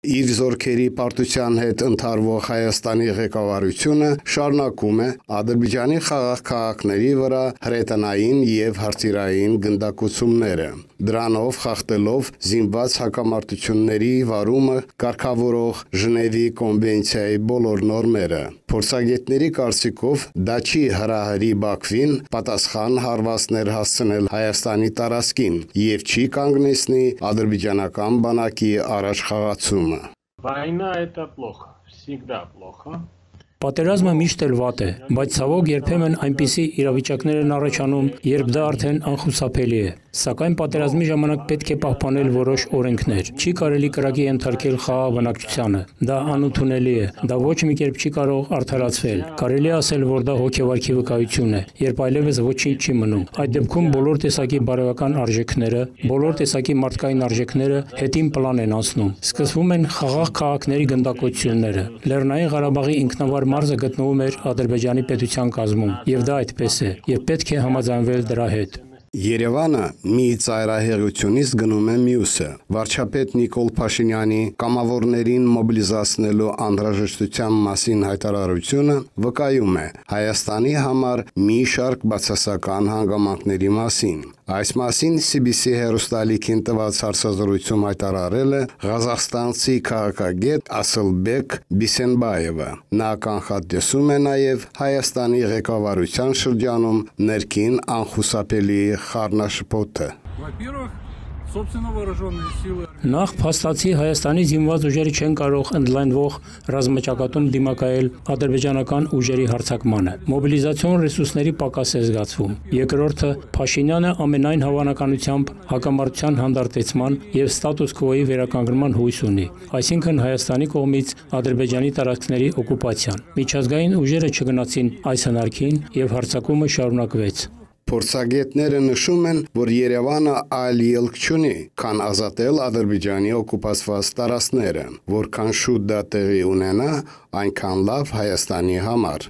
Իր զորքերի պարտության հետ ընթարվող Հայաստանի ղեկավարությունը շարունակում է Ադրբեջանի խաղաղ քաղաքների վրա հրետանային և հրթիռային գնդակոծումները, դրանով խախտելով զինված հակամարտությունների վարումը կարգավորող Ժնևի կոնվենցիայի բոլոր նորմերը։ Փորձագետների կարծիքով դա չի հրահրի Բաքվին պատասխան հարվածներ հասցնել Հայաստանի տարածքին և չի կանգնեցնի ադրբեջանական բանակի առաջխաղացումը։ Война – это плохо, всегда плохо. Պատերազմը միշտ էլ վատ է, բայց ցավոք երբեմն այնպիսի իրավիճակներ են առաջանում, երբ դա արդեն անխուսափելի է։ Սակայն պատերազմի ժամանակ պետք է պահպանել որոշ օրենքներ։ Չի կարելի կրակի ենթարկել խաղաղ բնակչությանը։ Դա անընդունելի է։ Դա ոչ մի կերպ չի կարող արդարացվել։ Կարելի է ասել, որ դա հոգեվարքի վկայություն է, երբ այլևս ոչինչ չի մնում։ Այդ դեպքում բոլոր տեսակի բարոյական արժեքները, բոլոր տեսակի մարդկային արժեքները հետին պլան են անցնում։ Սկսվում են խաղաղ քաղաքների գնդակոծությունները։ Լեռնային Ղարաբաղի ինքնավար մարզը գտնվում էր Ադրբեջանի պետության կազմում, եւ դա այդպես է, եւ պետք է համաձայնվել դրա հետ։ Երևանը մի ծայրահեղությունից գնում է մյուսը։ Վարչապետ Նիկոլ Փաշինյանի կամավորներին մոբիլիզացնելու անհրաժեշտության մասին հայտարարությունը վկայում է Հայաստանի համար մի շարք բացասական հանգամանքների մասին։ Այս մասին CBC հեռուստալիքին տված հարցազրույցում հայտարարել է ղազախստանցի քաղաքագետ Ասլբեկ Բիսենբաևը։ Նա կանխատեսում է նաև Հայաստանի ղեկավարության շրջանում ներքին անխուսափելի խառնաշփոթը։ Նախ փաստացի Հայաստանի զինված ուժերը չեն կարող ընդլայնվող ռազմաճակատում դիմակայել ադրբեջանական ուժերի հարձակմանը։ Մոբիլիզացիոն ռեսուրսների պակաս է զգացվում։ Երկրորդը, Փաշինյանը ամենայն հավանականությամբ հակամարտության հանդարտեցման եւ ստատուս քվոյի վերականգնման հույս ունի, այսինքն Հայաստանի կողմից Ադրբեջանի տարածքների օկուպացիան։ Միջազգային ուժերը չգնացին այս հնարքին եւ հարձակումը շարունակվեց։ Փորձագետները նշում են, որ Երևանը այլ ելք չունի, քան ազատել Ադրբեջանի օկուպացված տարածքները, որքան շուտ դա տեղի ունենա, այնքան լավ Հայաստանի համար։